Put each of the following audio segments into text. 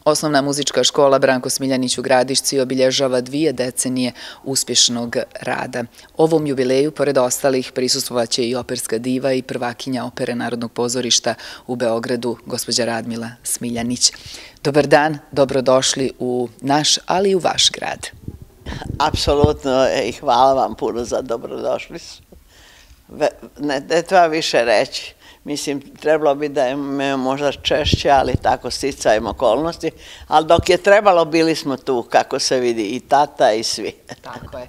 Osnovna muzička škola Branko Smiljanić u Gradišci obilježava 2 decenije uspješnog rada. Ovom jubileju, pored ostalih, prisustvovaće i operska diva i prvakinja opere Narodnog pozorišta u Beogradu, gospođa Radmila Smiljanić. Dobar dan, dobrodošli u naš, ali i u vaš grad. Apsolutno i hvala vam puno za dobrodošlicu. Ne treba više reći. Mislim, trebalo bi da me možda češće, ali tako sticajem okolnosti. Ali dok je trebalo, bili smo tu, kako se vidi, i tata i svi. Tako je.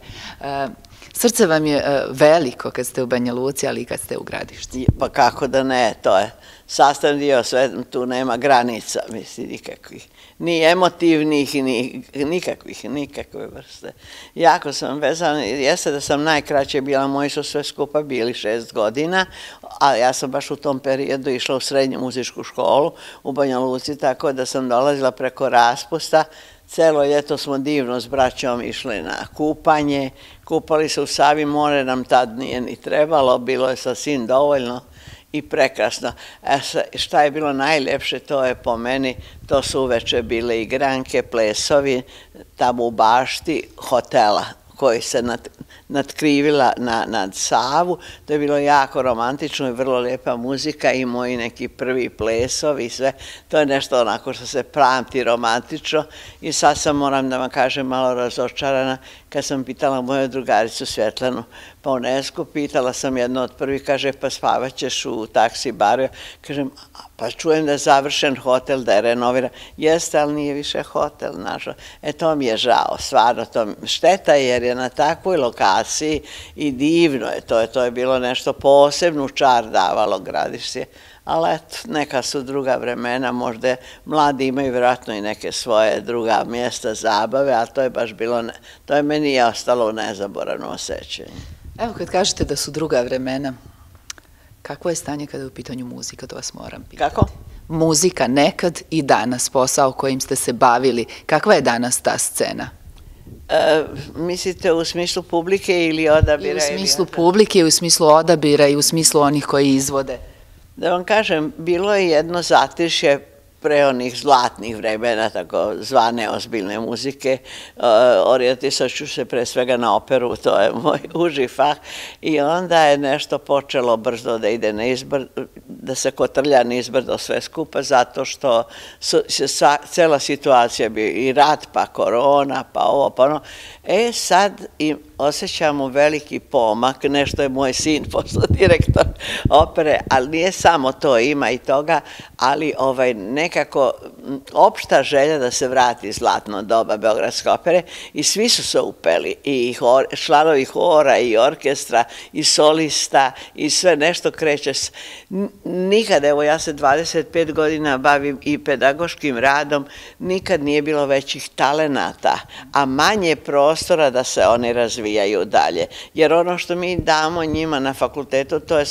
Srce vam je veliko kad ste u Banja Luci, ali i kad ste u Gradišci. Pa kako da ne, to je sastavni dio, sve tu nema granica, mislim, nikakvih. Ni emotivnih, ni nikakve vrste. Jako sam vezana, jeste da sam najkraće bila, moji su sve skupa bili 6 godina, a ja sam baš u tom periodu išla u srednju muzičku školu u Banja Luci, tako da sam dolazila preko raspusta. Celo ljeto smo divno s braćom išli na kupanje, kupali se u Savi, more nam tad nije ni trebalo, bilo je sasvim dovoljno i prekrasno. Šta je bilo najljepše, to je po meni, to su uveče bile igranke, plesovi, tamo u bašti hotela koji se natkrivila nad Savu. To je bilo jako romantično i vrlo lijepa muzika i moji neki prvi plesovi i sve. To je nešto onako što se pamti romantično i sad sam, moram da vam kažem, malo razočarana kad sam pitala moju drugaricu Svjetlanu Paunesku, pitala sam jedno od prvih, kaže, pa spavaćeš u taksi baru. Kažem, pa čujem da je završen hotel, da je renoviran. Jeste, ali nije više hotel, nažalost. To mi je žao, stvarno, šteta jer je na takvoj lokaciji i divno je, to je bilo nešto posebno čar davalo Gradišće. Ali eto, neka su druga vremena, možda mladi imaju vjerojatno i neke svoje druga mjesta zabave, ali to je baš bilo, to je meni ostalo u nezaboravno osjećanje. Evo, kad kažete da su druga vremena, kakvo je stanje kada je u pitanju muzika, to vas moram pitati. Kako? Muzika nekad i danas, posao kojim ste se bavili, kakva je danas ta scena? Mislite u smislu publike ili odabira? I u smislu publike, i u smislu odabira, i u smislu onih koji izvode. Da vam kažem, bilo je jedno zatišje pre onih zlatnih vremena, tako zvane ozbiljne muzike. Orijentisat ću se pre svega na operu, to je moj uži fah. I onda je nešto počelo brzo da ide da se kotrlja nizbrdo sve skupa, zato što cela situacija bi i rat, pa korona, pa ovo, pa ono. Sad osjećamo veliki pomak, nešto je moj sin postao direktor opere, ali nije samo to, ima i toga, ali nekako opšta želja da se vrati zlatno doba Beogradske opere i svi su se upeli, i članovi hora, i orkestra, i solista, i sve nešto kreće. Nikad, evo ja se 25 godina bavim i pedagoškim radom, nikad nije bilo većih talenata, a manje prostora da se oni razvijaju dalje. Jer ono što mi damo njima na fakultetu, to je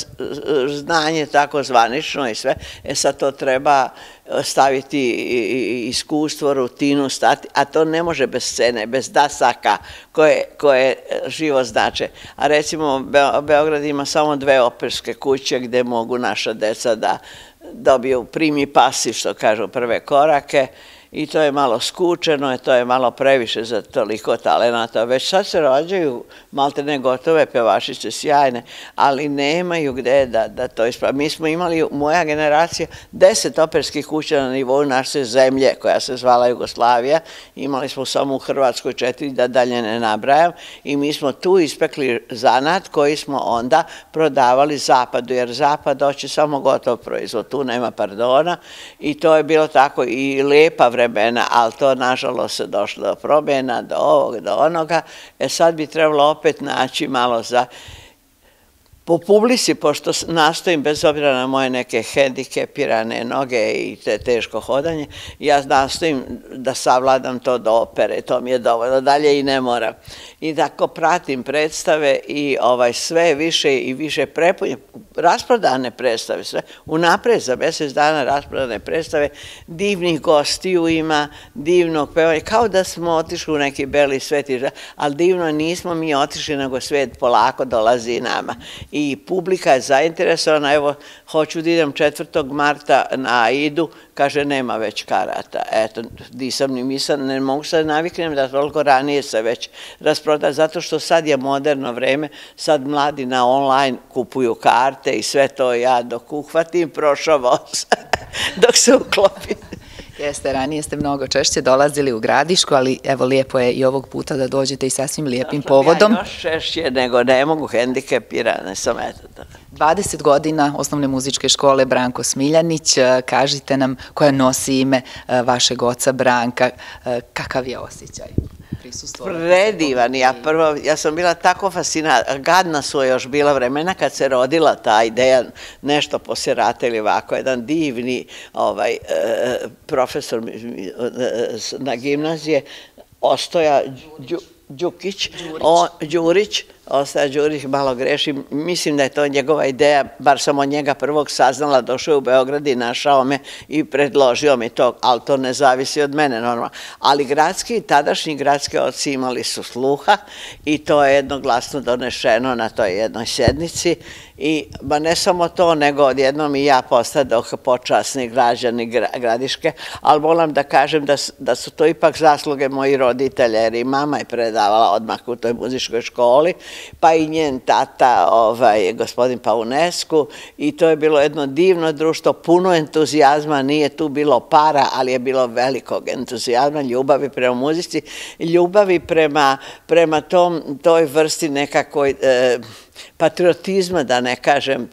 znanje tako zvanično i sve, sad to treba staviti iskustvo, rutinu, stati, a to ne može bez scene, bez dasaka koje živo znače. A recimo, Beograd ima samo 2 operske kuće gde mogu naša deca da dobiju primi pasi, što kažu, prve korake, i to je malo skučeno, to je malo previše za toliko talenata. Već sad se rođaju maltene gotove pevašice, sjajne, ali nemaju gde da to ispravi. Mi smo imali, moja generacija, 10 operskih kuća na nivou naše zemlje, koja se zvala Jugoslavija. Imali smo samo u Hrvatskoj 4, da dalje ne nabrajam, i mi smo tu ispekli zanat koji smo onda prodavali Zapadu, jer Zapad hoće samo gotov proizvod, tu nema pardona, i to je bilo tako i lepa vremena, ali to nažalost se došlo do promjena, do ovog, do onoga. Sad bi trebalo opet naći malo po publici, pošto nastojim, bez obzira na moje neke hendikepirane noge i teško hodanje, ja nastojim da savladam to do opere, to mi je dovoljno, dalje i ne moram. I tako pratim predstave i sve više i više rasprodane predstave, sve unapred za mjesec dana rasprodane predstave, divnih gostiju ima, divnog pevanja, kao da smo otišli u neki beli svet, ali divno nismo mi otišli, nego svet polako dolazi nama. i publika je zainteresovana. Evo, hoću da idem 4. marta na Aidu, kaže nema već karata. Eto, nisam ni mislila, ne mogu sad naviknem da toliko ranije se već rasproda, zato što sad je moderno vreme, sad mladi na online kupuju karte i sve to, ja dok uhvatim prošao voz, dok se uklopim. Jeste, ranije ste mnogo češće dolazili u Gradišku, ali evo lijepo je i ovog puta da dođete i sasvim lijepim povodom. Ja još češće nego ne mogu, hendikepirane sam, eto. 20 godina osnovne muzičke škole Branko Smiljanić, kažite nam koja nosi ime vašeg oca Branka, kakav je osjećaj? Predivan, ja sam bila tako fascinata, gadna su još bila vremena kad se rodila ta ideja, nešto poslije rata ili ovako, jedan divni profesor na gimnazije, Ostoja Đurić, Ostoja Đurić, malo grešim, mislim da je to njegova ideja, bar sam od njega prvog saznala, došao je u Beograd i našao me i predložio mi to, ali to ne zavisi od mene normalno. Ali tadašnji gradski oci imali su sluha i to je jednoglasno donešeno na toj jednoj sednici i ne samo to, nego odjednom i ja postadoh počasni građani Gradiške, ali moram da kažem da su to ipak zasluge moji roditelja, jer i mama je predavala odmah u toj muzičkoj školi, pa i njen tata, gospodin Paunescu, i to je bilo jedno divno društvo, puno entuzijazma, nije tu bilo para, ali je bilo velikog entuzijazma, ljubavi prema muzici, ljubavi prema toj vrsti nekakvoj patriotizma, da ne kažem,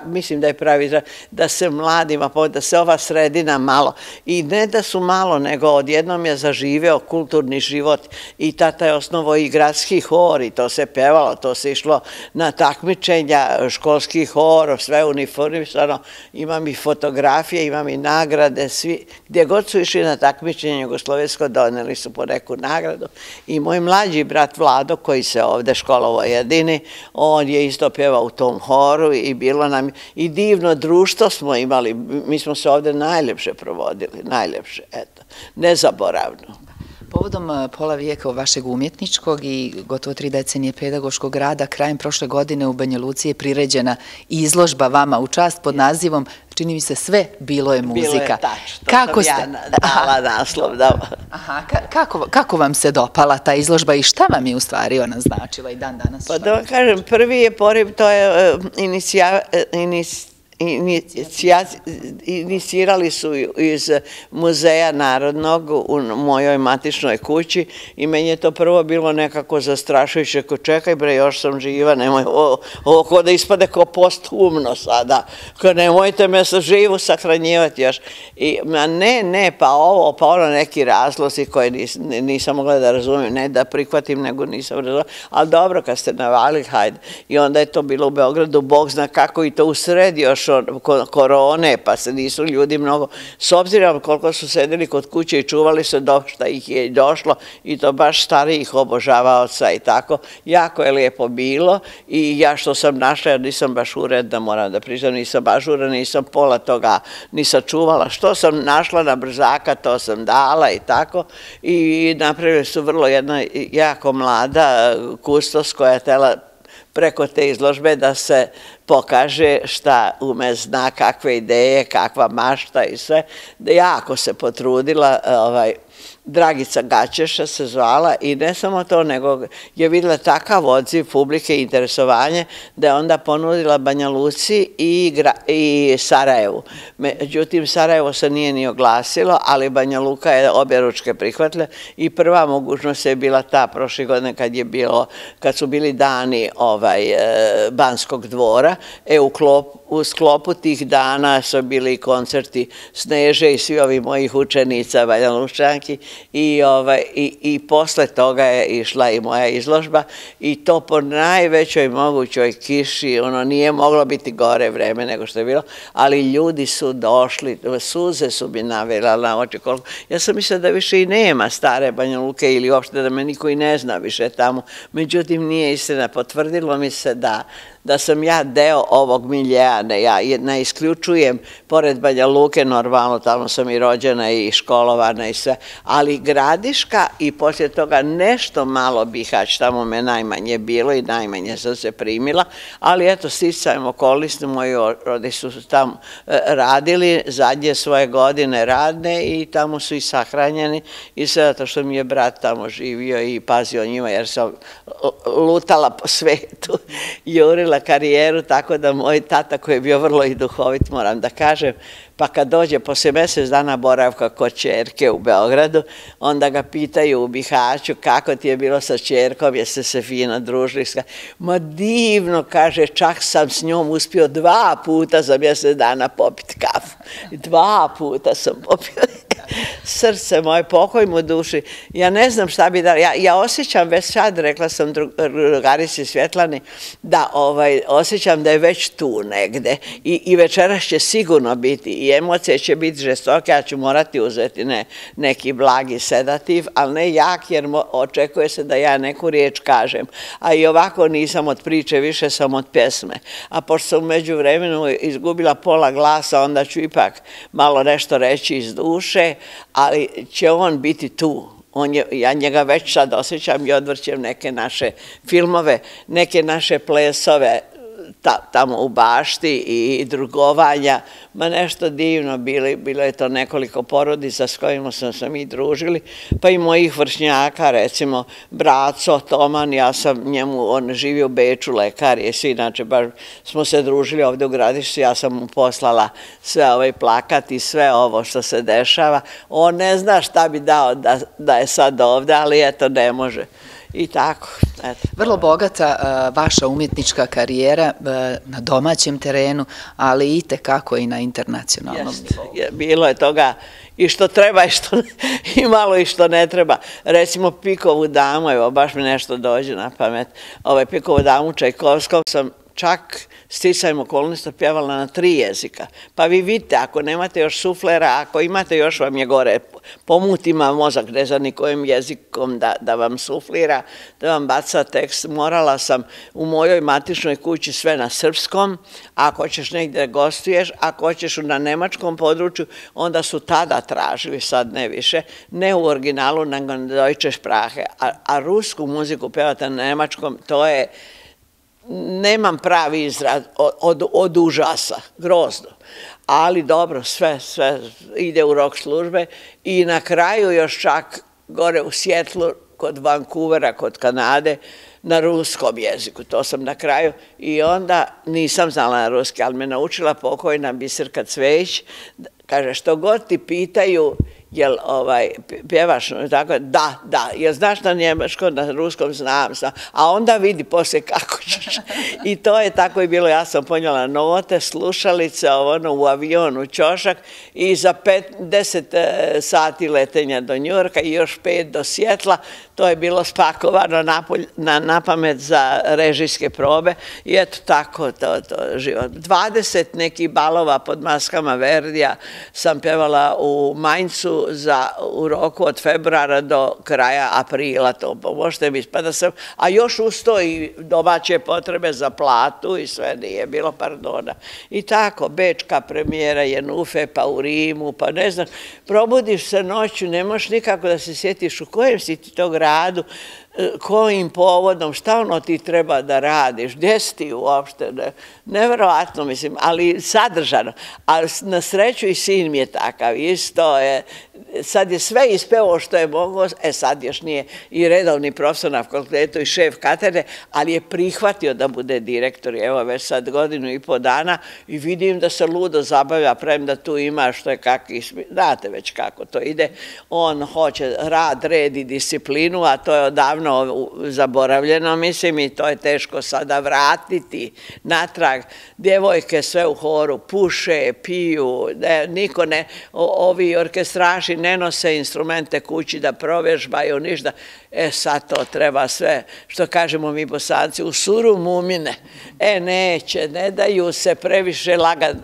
mislim da je pravi izraz, da se mladima, da se ova sredina malo, i ne da su malo, nego odjednom je zaživeo kulturni život i tata je osnovo i gradski hor i to se pevalo, to se išlo na takmičenja, školski hor, sve uniformisano, imam i fotografije, imam i nagrade, svi, gdje god su išli na takmičenje jugoslovensko, doneli su po neku nagradu i moj mlađi brat Vlado, koji se ovde školovao jedini, on je isto pjevao u tom horu i bilo nam i divno društvo smo imali, mi smo se ovde najljepše provodili, najljepše, eto, nezaboravno. Povodom pola vijeka vašeg umjetničkog i gotovo 3 decenije pedagoškog rada, krajem prošle godine u Banja Luci je priređena izložba vama u čast pod nazivom, čini mi se, sve bilo je muzika. Bilo je tačno, to sam ja dala naslov. Kako vam se dopala ta izložba i šta vam je u stvari ona značila i dan danas? Pa da vam kažem, prvi je poriv, to je inicirali su iz Muzeja Narodnog u mojoj matičnoj kući i meni je to prvo bilo nekako zastrašujuće, ko čekaj bre, još sam živa, nemoj ovo ko da ispade kao posthumno sada, ko nemojte me sa živu sahranjivati još. Ne, pa ono neki razlozi koje nisam mogla da razumijem, ne da prihvatim, nego nisam razumela, ali dobro kad ste navali, hajde. I onda je to bilo u Beogradu, Bog zna kako i to u sredi još korone, pa se nisu ljudi mnogo, s obzirom koliko su sedeli kod kuće i čuvali se šta ih je došlo i to baš starijih obožavaoca i tako, jako je lijepo bilo i ja što sam našla, jer nisam baš uredna, moram da priznam, nisam ažurna, nisam pola toga ni sačuvala, što sam našla na brzaka, to sam dala i tako i napravili su vrlo jedna jako mlada kustos koja je htjela preko te izložbe da se pokaže šta ume zna, kakve ideje, kakva mašta i sve. Jako se potrudila, Dragica Gaćeša se zvala i ne samo to, nego je vidjela takav odziv publike i interesovanje da je onda ponudila Banja Luci i Sarajevu. Međutim, Sarajevo se nije ni oglasilo, ali Banja Luka je obje ručke prihvatila i prva mogućnost je bila ta prošle godine kad su bili dani Banskog dvora. U sklopu tih dana su bili koncerti Sneže i svi ovi mojih učenica Banja Lučanki i posle toga je išla i moja izložba i to po najvećoj mogućoj kiši, ono nije moglo biti gore vreme nego što je bilo, ali ljudi su došli, suze su mi navela na oči koliko. Ja sam mislila da više i nema stare Banja Luke ili uopšte da me niko i ne zna više tamo, međutim nije istina, potvrdilo mi se da sam ja deo deo ovog miljeja, ja ne isključujem, pored Banja Luke, normalno, tamo sam i rođena i školovana i sve, ali Gradiška i poslije toga nešto malo Bihać, tamo me najmanje bilo i najmanje sam se primila, ali eto, sticajem okolnosti, moji rodi su tamo radili, zadnje svoje godine radne i tamo su i sahranjeni i sve zato što mi je brat tamo živio i pazio njima jer sam lutala po svetu, jurila karijeru, tako da moj tata koji je bio vrlo i duhovit, moram da kažem, pa kad dođe posle mjesec dana boravka kod ćerke u Beogradu, onda ga pitaju u Bihaću kako ti je bilo sa ćerkom, jeste se fino družili. Ma divno, kaže, čak sam s njom uspio 2 puta za mjesec dana popiti kafu. 2 puta sam popio. Srce moje, pokoj mu duši. Ja ne znam šta bi da... Ja osjećam već sad, rekla sam drugarici Svjetlani, da osjećam da je već tu negde i večeras će sigurno biti i emocije će biti žestoke, ja ću morati uzeti neki blagi sedativ, ali ne jak jer očekuje se da ja neku riječ kažem. A i ovako nisam od priče, više sam od pjesme. A pošto sam u međuvremenu izgubila pola glasa, onda ću ipak malo nešto reći iz duše, ali će on biti tu. Ja njega već sad osjećam i odvrćem neke naše filmove, neke naše plesove tamo u bašti i drugovanja, ma nešto divno, bilo je to nekoliko porodica s kojima smo se mi družili, pa i mojih vršnjaka, recimo Braco, Toman, ja sam njemu, on živi u Beču, lekar je svi, inače baš smo se družili ovdje u Gradišci, ja sam mu poslala sve plakat i sve ovo što se dešava, on ne zna šta bi dao da je sad ovdje, ali eto ne može. I tako. Vrlo bogata vaša umjetnička karijera na domaćem terenu, ali i tekako i na internacionalnom nivou. Bilo je toga i što treba i malo i što ne treba. Recimo Pikovu damu, evo baš mi nešto dođe na pamet, Pikovu damu Čajkovskog sam čak sticajem okolnosti pjevala na 3 jezika. Pa vi vidite, ako nemate još suflera, ako imate još vam je gore, pomutima mozak, ne znam ni kojim jezikom da vam suflira, da vam baca tekst. Morala sam u mojoj matičnoj kući sve na srpskom, ako ćeš negdje gostuješ, ako hoćeš na nemačkom području, onda su tada tražili, sad ne više, ne u originalu, nego na deutsche Sprache. A rusku muziku pevati na nemačkom, to je nemam pravi izraz od užasa, grozno. Ali dobro, sve ide u rock službe i na kraju još čak gore u Sjetlu, kod Vancouvera, kod Kanade, na ruskom jeziku. To sam na kraju i onda nisam znala na ruski, ali me naučila pokojna Biserka Cvejić. Kaže, što god ti pitaju, jel pjevaš, tako, da, jel znaš na njemačkom, na ruskom, znam, a onda vidi poslije kako ćeš. I to je tako i bilo, ja sam ponijela note, slušalice, u avionu, ćošak i za 10 sati letenja do Njujorka i još 5 do Sjetla, to je bilo spakovano na pamet za režijske probe i eto tako to život. 20 nekih balova pod maskama Verdija sam pjevala u Mainzu u roku od februara do kraja aprila, to možete mi, a još uz to i domaće potrebe za platu i sve nije bilo, pardona. I tako, bečka premijera Jenufe, pa u Rimu, pa ne znam, probudiš se noću, ne možeš nikako da se sjetiš u kojem si ti to gradu, kojim povodom, šta ono ti treba da radiš, gdje si ti uopšte, nevjerovatno mislim, ali sadržano. A na sreću i sin mi je takav, isto je, sad je sve ispevao što je mogao, sad još nije i redovni profesor na fakultetu i šef katedre, ali je prihvatio da bude direktor, evo već sad 1,5 godina i vidim da se ludo zabavlja, premda tu ima što je kakvi, znate već kako to ide, on hoće rad, red i disciplinu, a to je odavno zaboravljeno, mislim, i to je teško sada vratiti natrag. Djevojke sve u horu puše, piju, niko ne, ovi orkestraši pevači ne nose instrumente kući da provežbaju ništa. Sad to treba sve, što kažemo mi Bosanci, u suru mumine. Neće, ne daju se previše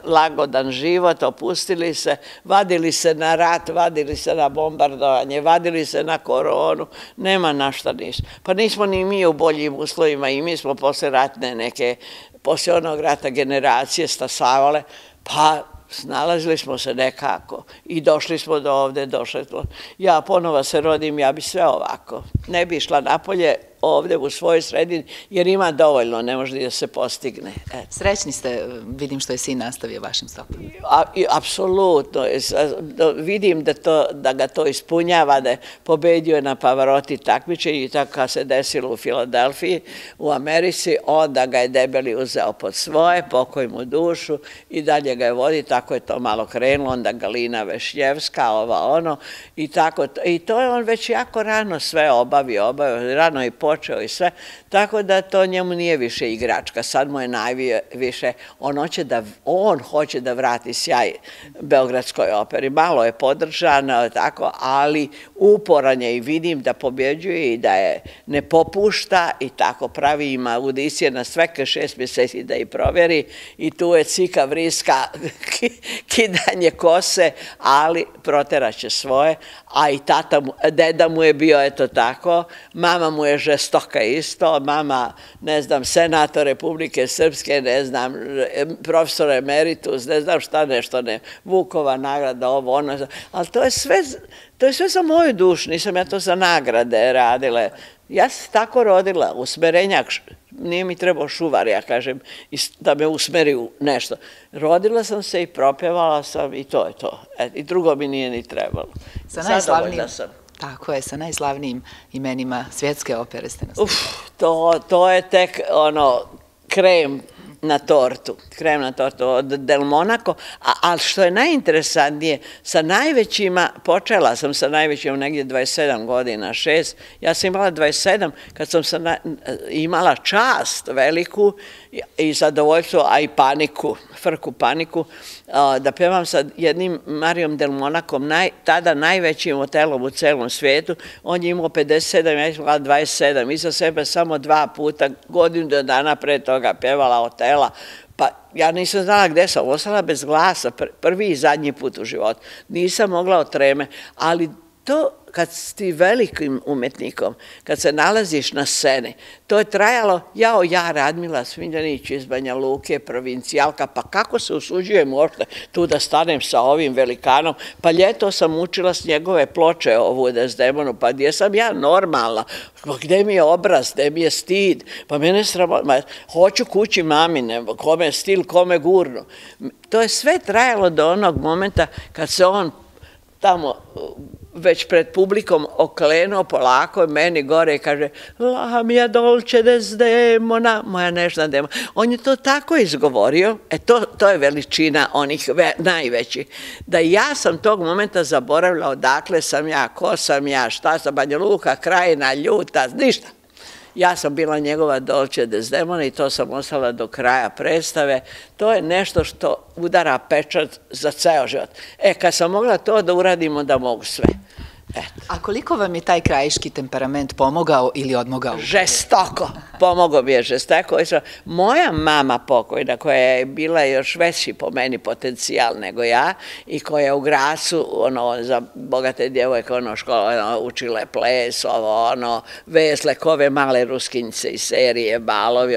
lagodan život, opustili se, vadili se na rat, vadili se na bombardovanje, vadili se na koronu, nema na šta ništa. Pa nismo ni mi u boljim uslovima i mi smo posle ratne neke, posle onog rata generacije stasavale, pa snalazili smo se nekako i došli smo do ovde, došli smo. Ja ponova se rodim, ja bi sve ovako. Ne bi išla napolje ovde u svojoj sredini, jer ima dovoljno, ne može da se postigne. Srećni ste, vidim što je sin nastavio vašim stopama. Apsolutno, vidim da ga to ispunjava, da je pobedio na Pavaroti takmičenju i tako kad se desilo u Filadelfiji, u Americi, onda ga je debeli uzeo pod svoje, pokoj mu dušu i dalje ga je vodi, tako je to malo krenulo, onda Galina Vešnjevska, ono, i tako, i to je on već jako rano sve obavio, rano i počeo i sve, tako da to njemu nije više igračka, sad mu je najviše, on hoće da vrati sjaj Beogradskoj operi, malo je podržan, tako, ali uporan je i vidim da pobjeđuje i da je ne popušta i tako pravi, ima audicije na sveke 6 mjeseci da ih proveri i tu je cika, vriska, kidanje kose, ali proteraće svoje, a i deda mu je bio eto tako, mama mu je žestoka isto, mama, ne znam, senator Republike Srpske, ne znam, profesor emeritus, ne znam šta nešto, ne, Vukova nagrada, ovo, ono, ali to je sve za moju dušu, nisam ja to za nagrade radila. Ja sam tako rodila, usmerenjak, nije mi trebao šuvar, ja kažem, da me usmeri u nešto. Rodila sam se i propjevala sam i to je to. I drugo mi nije ni trebalo. Zadovoljna sam. Tako je, sa najslavnijim imenima svjetske opere ste nas. To je tek ono krem na tortu od Del Monaco, ali što je najinteresantnije, sa najvećima, počela sam sa najvećim negdje 27 godina, 6, ja sam imala 27 kad sam imala čast veliku i zadovoljstvo, a i paniku, frku paniku, da pevam sa jednim Marijom Del Monacom, tada najvećim hotelom u celom svijetu, on je imao 57, ja sam imala 27, iza sebe samo 2 puta, godinu do dana pre toga pevala hotela, pa ja nisam znala gde sam, ostala bez glasa, prvi i zadnji put u životu, nisam mogla od treme, ali to kad si velikim umetnikom, kad se nalaziš na sceni, to je trajalo, ja Radmila Smiljanić iz Banja Luke, provincijalka, pa kako se usuđujem uopšte tu da stanem sa ovim velikanom, pa ljeto sam učila s njegove ploče ovu Desdemonu, pa gdje sam ja normalna, gde mi je obraz, gde mi je stid, pa mene sramota, hoću kući mamine, kome stil, kome gurnu. To je sve trajalo do onog momenta kad se on tamo već pred publikom oklenuo polako meni gore i kaže La mia dolce Desdemona, moja nežna Demona. On je to tako izgovorio, to je veličina onih najvećih, da ja sam tog momenta zaboravila odakle sam ja, ko sam ja, šta sam, Banja Luka, Krajina, Ljuta, ništa. Ja sam bila njegova Dolce Desdemona i to sam ostala do kraja predstave. To je nešto što udara pečat za ceo život. Kad sam mogla to da uradimo, da mogu sve. A koliko vam je taj krajiški temperament pomogao ili odmogao? Žestoko. Pomogao mi je žestoko. Moja mama pokojna, koja je bila još veći po meni potencijal nego ja i koja je u Gracu, za bogate djevojke, škola, učile ples, vesle, kove male ruskinjice iz serije, balovi,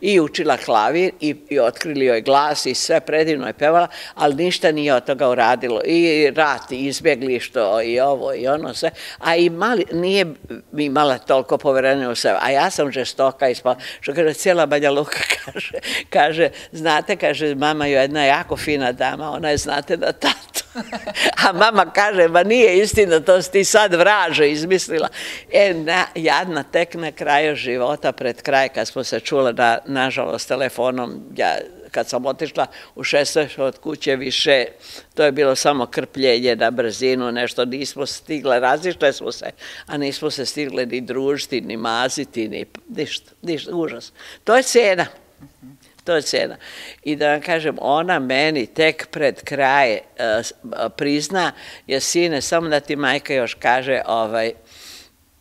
i učila klavir i otkrili joj glas i sve predivno je pevala, ali ništa nije od toga uradilo. I rat, i izbjeglištvo, i ovo, i ono sve, a nije imala toliko poverenja u sebe, a ja sam žestoka ispala, što kaže, cijela Banja Luka kaže, znate, kaže, mama je jedna jako fina dama, ona je, znate, na tatu. A mama kaže, ma nije istina, to si ti sad vraže izmislila. Jadna, tek na kraju života, pred kraj, kad smo se čule, nažalost, telefonom, kad sam otišla u 16 od kuće više, to je bilo samo krpljenje na brzinu, nešto nismo stigle, razišle smo se, a nismo se stigle ni družiti, ni maziti, ni ništa, užas. To je cena. to je cena. I da vam kažem, ona meni tek pred kraj prizna, jer sine, samo da ti majka još kaže,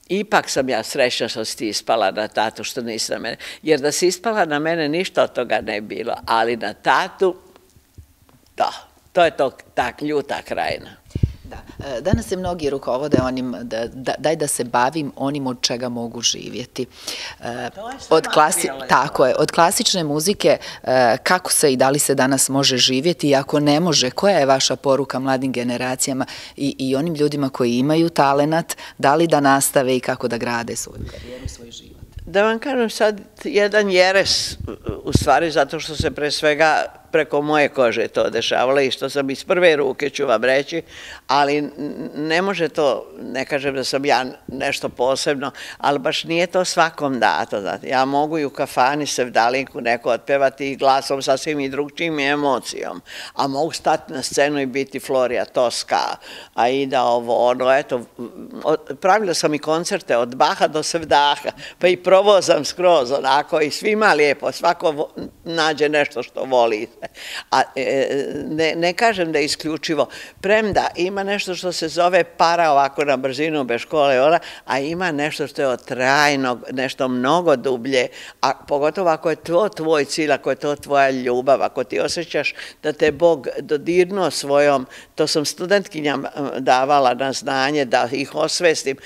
ipak sam ja srećna što si ti ispala na tatu, što nisi na mene. Jer da si ispala na mene, ništa od toga ne bilo, ali na tatu, da, to je ta ljuta krajina. Danas se mnogi rukovode onim, daj da se bavim onim od čega mogu živjeti. Tako je, od klasične muzike, kako se i da li se danas može živjeti i ako ne može, koja je vaša poruka mladim generacijama i onim ljudima koji imaju talenat, da li da nastave i kako da grade svoju karijeru, svoj život? Da vam kažem sad jedan jeres, u stvari zato što se pre svega preko moje kože to dešavalo i što sam iz prve ruke, ću vam reći, ali ne može to, ne kažem da sam ja nešto posebno, ali baš nije to svakom dato. Znate. Ja mogu i u kafani sevdalinku neko otpevati i glasom sasvim i drugčijim emocijom, a mogu stati na scenu i biti Florija Toska, Aida ovo, ono, eto, pravila sam i koncerte od Baha do Sevdaha, pa i provozam skroz onako i svima lijepo, svako nađe nešto što voli. A ne kažem da je isključivo, premda ima nešto što se zove para ovako na brzinu bez škole, a ima nešto što je od trajnog, nešto mnogo dublje, a pogotovo ako je to tvoj cilj, ako je to tvoja ljubav, ako ti osjećaš da te Bog dodirnuo svojom, to sam studentkinjama davala na znanje, da ih osvestim,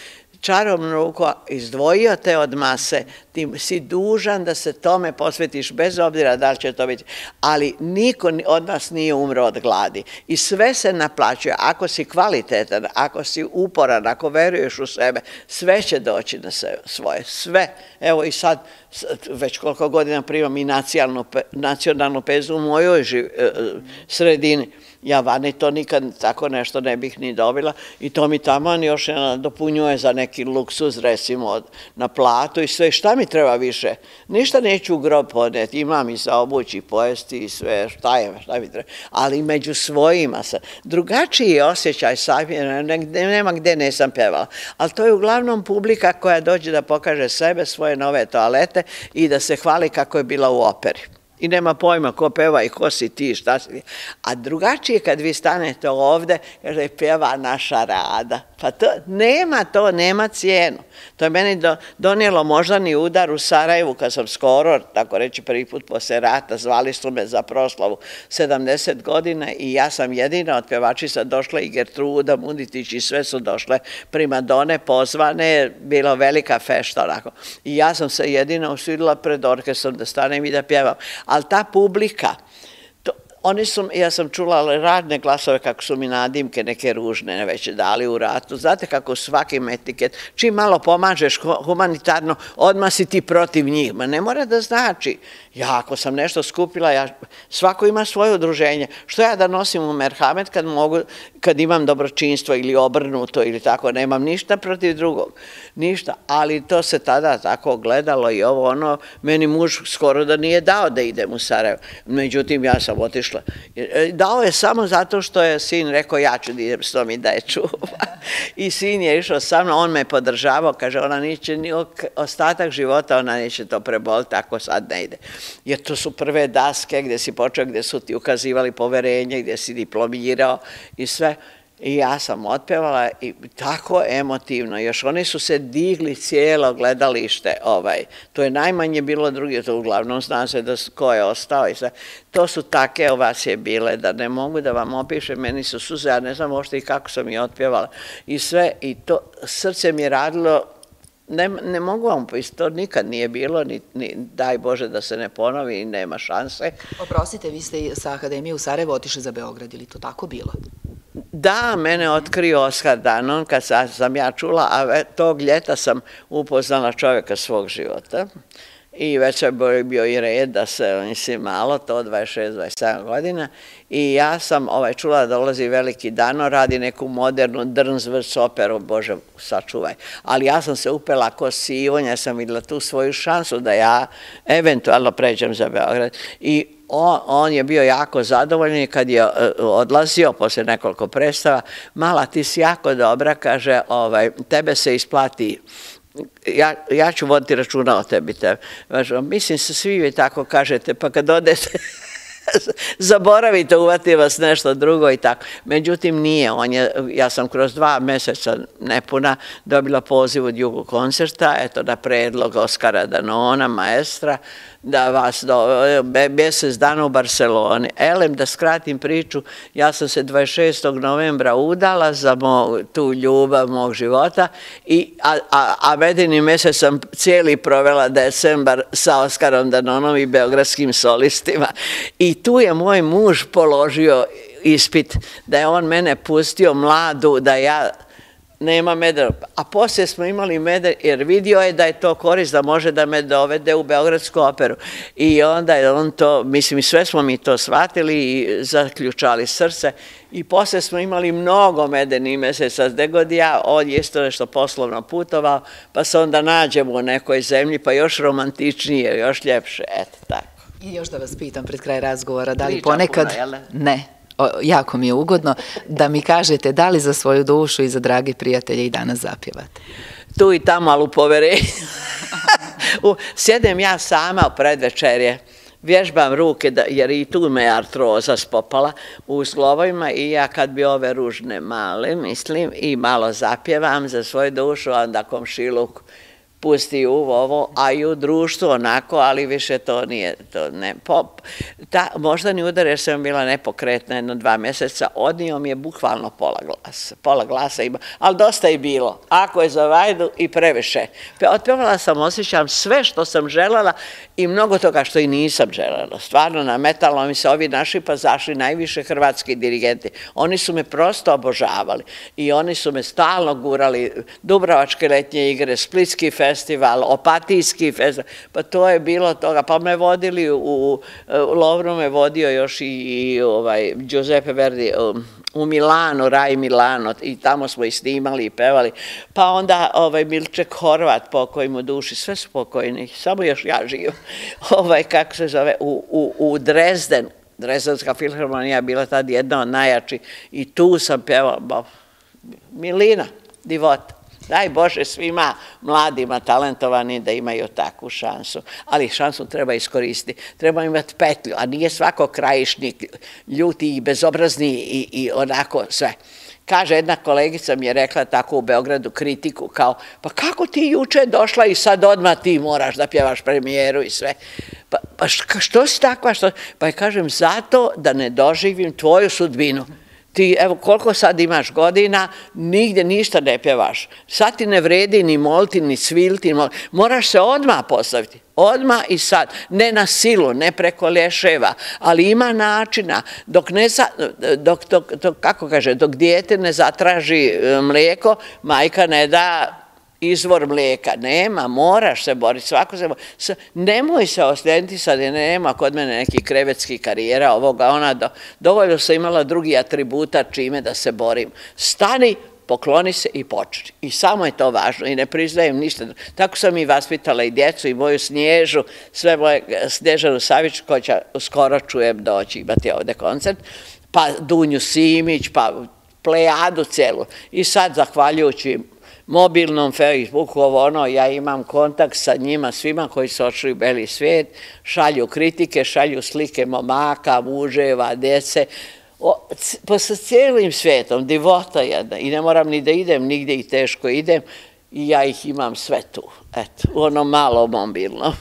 čarom ruku izdvojio te od mase, ti si dužan da se tome posvetiš, bez obzira da li će to biti, ali niko od nas nije umro od gladi i sve se naplaćuje, ako si kvalitetan, ako si uporan, ako veruješ u sebe, sve će doći na svoje, sve. Evo i sad, već koliko godina primam i nacionalnu pezu u mojoj sredini. Ja vani to nikad tako nešto ne bih ni dobila i to mi taman još dopunjuje za neki luksuz, recimo na platu i sve. Šta mi treba više? Ništa neću u grob podneti, imam i za obući, pojesti i sve, šta mi treba. Ali među svojima sam. Drugačiji je osjećaj sam, nema gde nisam pevala. Ali to je uglavnom publika koja dođe da pokaže sebe, svoje nove toalete i da se hvali kako je bila u operi. I nema pojma ko peva i ko si ti, šta si ti. A drugačije kad vi stanete ovde, kaže, peva naša Rada. Pa to nema cijenu. To je meni donijelo moždani udar u Sarajevu, kad sam skoro, tako reći, prvi put posle rata, zvali su me za proslavu 70 godina i ja sam jedina od pevačica došla i Gertruda Muditić i sve su došle primadone pozvane, bilo velika fešta onako. I ja sam se jedina usudila pred orkestrom da stanem i da pjevam. Ali ta publika, ja sam čula radne glasove kako su mi nadimke neke ružne već dali u ratu. Znate kako svakim etiket, čim malo pomažeš humanitarno, odmah si ti protiv njih. Ma ne mora da znači. Ja ako sam nešto skupila, svako ima svoje udruženje. Što ja da nosim u merhamet kad imam dobročinstvo ili obrnuto ili tako, nemam ništa protiv drugog. Ništa, ali to se tada tako gledalo i ovo ono, meni muž skoro da nije dao da idem u Sarajevo. Međutim, ja sam otišla. Dao je samo zato što je sin rekao ja ću da idem s tom i da je čuva. I sin je išao sa mnom, on me podržavao, kaže ona neće ni ostatak života, ona neće to preboliti ako sad ne ide. Jer to su prve daske gde si počeo, gde su ti ukazivali poverenje, gde si diplomirao i sve. I ja sam otpevala i tako emotivno, još oni su se digli cijelo gledalište, to je najmanje bilo drugi, to uglavnom zna se da ko je ostao i sve. To su take ovacije bile, da ne mogu da vam opišem, meni su suze, ja ne znam uopšte i kako sam ih otpevala i sve, i to srce mi je radilo. Ne mogu vam povisiti, to nikad nije bilo, ni daj Bože da se ne ponovi i nema šanse. Oprostite, vi ste sa Akademije u Sarajevo otišli za Beograd, ili to tako bilo? Da, mene otkrio Oskar Danon kad sam ja čula, a tog ljeta sam upoznala čovjeka svog života i već je bio i red da se, mislim, malo, to 26-27 godina i ja sam čula da dolazi veliki Dano, radi neku modernu Drnsvrs operu, Bože, sačuvaj. Ali ja sam se upela ko sivonja, ja sam videla tu svoju šansu da ja eventualno pređem za Beograd i on je bio jako zadovoljan i kad je odlazio posle nekoliko predstava, mala ti si jako dobra, kaže, tebe se isplati ja ću voditi računa o tebi. Mislim se svi vi tako kažete, pa kad odete zaboravite, uvati vas nešto drugo i tako. Međutim, nije. Ja sam kroz 2 meseca nepuna dobila poziv od Jugo koncerta, eto, na predlog Oskara Danona, maestra, da vas mjesec dana u Barceloni. Elem, da skratim priču, ja sam se 26. novembra udala za tu ljubav mog života, a medeni mjesec sam cijeli provela decembar sa Oskarom Danonom i beogradskim solistima. I tu je moj muž položio ispit, da je on mene pustio mladu, da ja nema meda, a poslije smo imali meda, jer vidio je da je to korist, da može da me dovede u Beogradsku operu. I onda je on to, mislim, sve smo mi to shvatili i zaključali srce. I poslije smo imali mnogo medenih mjeseca, gde god ja, on je isto nešto poslovno putovao, pa se onda nađemo u nekoj zemlji, pa još romantičnije, još ljepše, eto tako. I još da vas pitam pred kraj razgovora, da li ponekad... Ne. Jako mi je ugodno da mi kažete da li za svoju dušu i za dragi prijatelje i danas zapjevate. Tu i tamo, ali u poverenju. Sjedem ja sama u predvečerje, vježbam ruke, jer i tu me artroza spopala u zglobovima i ja kad bi ove ružne male, mislim, i malo zapjevam za svoju dušu, onda komšiluk pusti ovo, a i u društvu onako, ali više to nije, moždani udar, jer sam bila nepokretna 1-2 mjeseca, odnio mi je bukvalno pola glasa ima, ali dosta je bilo, ako je za vajdu i previše. Otpevala sam, osjećam sve što sam želela i mnogo toga što i nisam želela. Stvarno, nametalo mi se ovi naši pazaši, najviše hrvatski dirigenti. Oni su me prosto obožavali i oni su me stalno gurali, Dubrovačke letnje igre, Splitski festival, Opatijski festival, pa to je bilo toga. Pa me vodili u Lovru, me vodio još i Giuseppe Verdi u Milano, Raj Milano, i tamo smo i snimali i pevali. Pa onda Milček Horvat, pokoj mu duši, sve su pokojni, samo još ja živim. Kako se zove, u Dresden, Dresdenska filharmonija je bila tad jedna od najjačih i tu sam pevala Milina, divota. Daj Bože svima mladima, talentovani da imaju takvu šansu, ali šansu treba iskoristiti, treba imati petlju, a nije svako krajišnik, ljuti i bezobrazni i onako sve. Kaže, jedna kolegica mi je rekla tako u Beogradu kritiku, kao, pa kako ti juče došla i sad odmah ti moraš da pjevaš premijeru i sve. Pa što si takva? Pa je kažem, zato da ne doživim tvoju sudbinu. Ti, evo, koliko sad imaš godina, nigde ništa ne pjevaš. Sad ti ne vredi ni moliti, ni sviliti, moraš se odmah postaviti. Odmah i sad. Ne na silu, ne preko lješeva, ali ima načina. Dok dijete ne zatraži mlijeko, majka ne da izvor mlijeka. Nema, moraš se boriti, svako se bori. Nemoj se oslijediti sad, nema kod mene nekih krevetskih karijera, ovoga, ona, dovoljno sam imala drugi atributa čime da se borim. Stani, pokloni se i počni. I samo je to važno i ne priznajem ništa. Tako sam i vaspitala i djecu i moju Snježu, sve moje Snježanu Savić, koja će skoro čujem doći imati ovde koncert, pa Dunju Simić, pa plejadu celu. I sad, zahvaljujući mobilnom Facebooku, ja imam kontakt sa njima svima koji su odšli u beli svijet, šalju kritike, šalju slike momaka, muževa, djece, sa cijelim svijetom, divota jedna, i ne moram ni da idem nigdje i teško idem, i ja ih imam sve tu, eto, u onom malo mobilnom.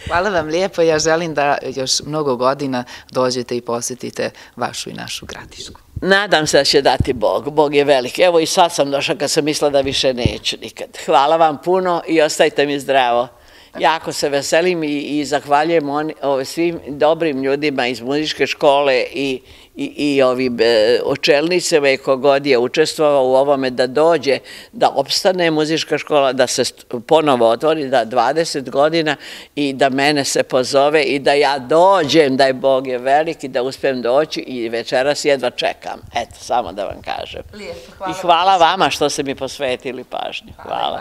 Hvala vam lijepo, ja želim da još mnogo godina dođete i posjetite vašu i našu Gradišku. Nadam se da će dati Bog, Bog je velik. Evo i sad sam došla kad sam mislila da više neću nikad. Hvala vam puno i ostajte mi zdravo. Jako se veselim i zahvaljujem svim dobrim ljudima iz muzičke škole i ovim očelnicima i kogod je učestvovao u ovome da dođe, da opstane muzička škola, da se ponovo otvori, da 20 godina i da mene se pozove i da ja dođem, da je Bog je velik i da uspijem doći i večeras jedva čekam. Eto, samo da vam kažem. I hvala vama što ste mi posvetili pažnju. Hvala.